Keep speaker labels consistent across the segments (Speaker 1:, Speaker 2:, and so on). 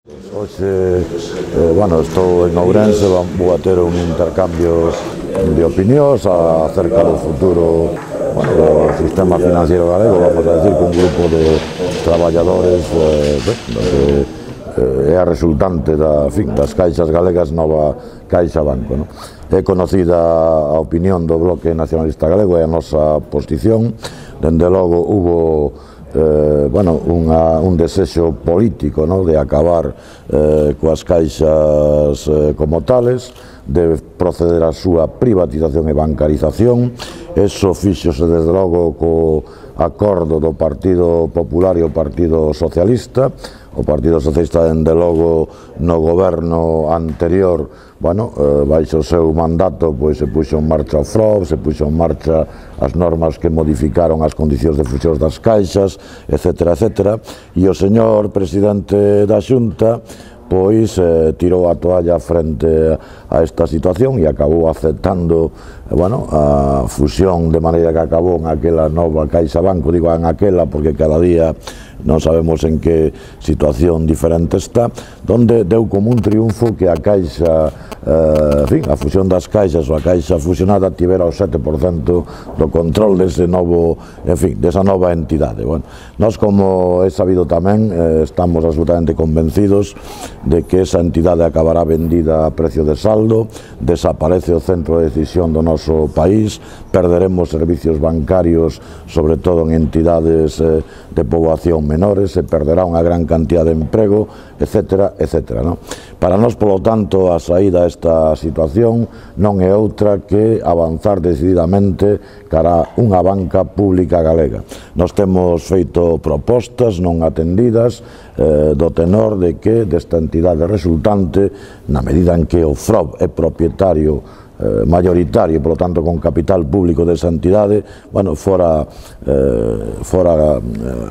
Speaker 1: Hoxe, estou en Ourense, vou a ter un intercambio de opinións acerca do futuro do sistema financiero galego, vamos a decir, con un grupo de traballadores é a resultante das caixas galegas, Nova Caixa Banco. É conocida a opinión do Bloque Nacionalista Galego e a nosa posición. Dende logo hubo un desexo político de acabar coas caixas como tales, de proceder á súa privatización e bancarización. Eso fíxose desde logo co acordo do Partido Popular e o Partido Socialista. O Partido Socialista, dende logo, no goberno anterior, baixo o seu mandato, se puxo en marcha o FROB, se puxo en marcha as normas que modificaron as condicións de fusión das caixas, etcétera, etcétera, e o señor presidente da Xunta tirou a toalla frente a esta situación e acabou aceptando a fusión, de maneira que acabou en aquela Nova Caixa Banco. Digo en aquela porque cada día non sabemos en que situación diferente está, donde deu como un triunfo que a caixa, a fusión das caixas ou a caixa fusionada tivera o 7% do control desa nova entidade. Nós, como é sabido tamén, estamos absolutamente convencidos de que esa entidade acabará vendida a precio de saldo, desaparece o centro de decisión do noso país, perderemos servicios bancarios, sobre todo en entidades de poboación menores, se perderá unha gran cantidad de emprego, etcétera, etcétera. Para nós, polo tanto, a saída a esta situación non é outra que avanzar decididamente cara a unha banca pública galega. Nós temos feito propostas non atendidas do tenor de que desta entidade resultante, na medida en que o FROB é propietario mayoritario, por lo tanto con capital público desa entidade, fora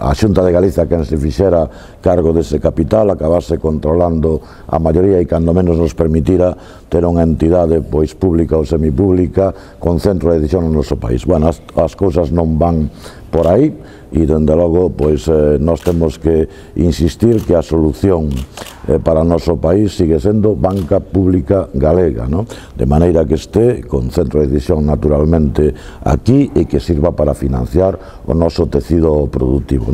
Speaker 1: a Xunta de Galicia quen se fixera cargo dese capital, acabase controlando a maioría e cando menos nos permitira ter unha entidade pública ou semipública con centro de decisión no noso país. As cousas non van por aí e, dende logo, nós temos que insistir que a solución para o noso país sigue sendo banca pública galega, de maneira que este con centro de decisión naturalmente aquí e que sirva para financiar o noso tecido productivo.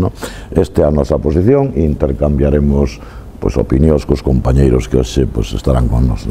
Speaker 1: Esta é a nosa posición e intercambiaremos opinións cos compañeiros que hoxe estarán con nós.